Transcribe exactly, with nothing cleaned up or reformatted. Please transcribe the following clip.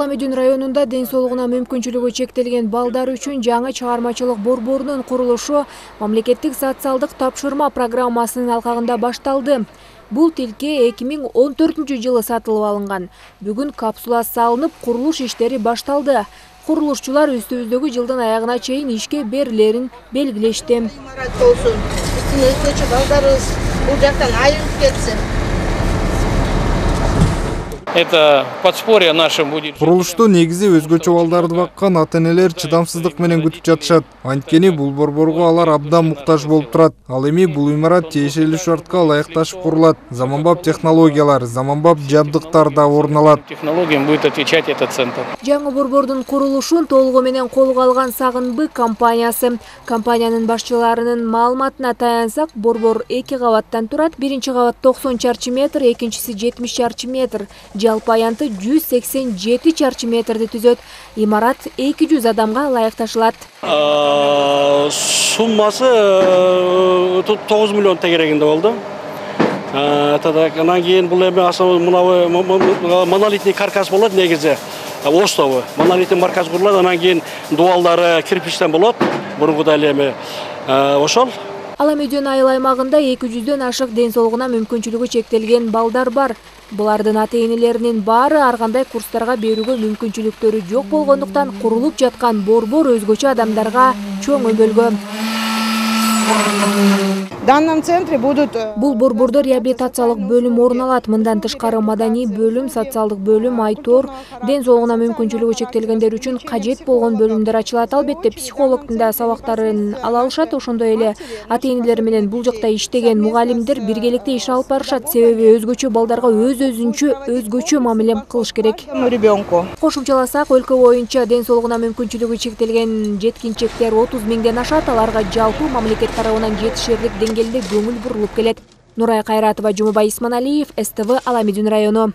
Аламедин районунда ден соолугуна мүмкүнчүлүгү чектелген балдар үчүн жаңы чыгармачылык борборунун курулушу мамлекеттик социалдык тапшырма программасынын алкагында башталды. Бул тилке эки миң он төртүнчү жылы сатылып алынган. Бүгүн капсула салынып, курулуш иштери башталды. Курулушчулар үстүбүздөгү жылдын аягына чейин ишке берилерин белгилешти. Имарат болсун, үстүнө өтүүчү балдарыбыз бул жактан айрылып кетсин. Это подспорье наше будет. Курулушту негизи өзгөчө балдарды баккан ата-энелер чыдамсыздык менен күтүп жатышат. Анткени бул борборго алар абдан муктаж болуп турат. Ал эми бул имарат тиешелүү шартка ылайыкташып курулат. Заманбап технологиялар, заманбап жабдыктар да орун алат. Технологиям будет отвечать этот центр. Жаңы борбордун курулушун толугу менен колго алган Сагынбы компаниясы. Компаниянын башчыларынын маалыматына таянсак, борбор эки кабаттан турат. Биринчи кабат токсон чарчы метр, экинчиси жетимиш чарчы метр. Жалпы аянты жүз сексен жети чарчы метрди түзөт. Имарат эки жүз адамга ылайыкташылат. Суммасы тогуз миллион тегерегинде болду. Анан кийин бул эми мына монолитный каркас болот негизи. Остову. Монолитный каркас курулат, анан кийин дубалдары кирпичтен болот. Бургудай эле эми ошол. Аламедин айыл аймагында эки жүздөн ашык ден соолугуна мүмкүнчүлүгү чектелген балдар бар. Булардын ата-энелеринин баары ар кандай курстарга берүүгө мүмкүнчүлүктөрү жок болгондуктан курулуп жаткан борбор өзгөчө адамдарга чоң өбөлгө. В данном центре будут... Бул борбордо реабилитациялык бөлүм орун алат. Мындан тышкары маданий бөлүм, социалдык бөлүм, айтор, ден соолугуна мүмкүнчүлүгү чектелгендер үчүн кажет болгон бөлүмдөр ачылат. Албетте психологдун да сабактарын ала алышат. Ошондой эле ата-энелер менен бул жакта иштеген мугалимдер биргеликте иш алып барышат. Себеби өзгөчө балдарга өз өзүнчө өзгөчө мамиле кылыш керек. Ребенку. Кошумчаласак, өлкө боюнча ден соолугуна мүмкүнчүлүгү чектелген жеткинчектер отуз миңден ашат. Аларга жалпы мамлекет тарабынан жетишерлик деңгээлде көңүл бурулуп келет. Нурай Кайратова, Жумабай Исманалиев, эс тэ вэ, Аламедин району.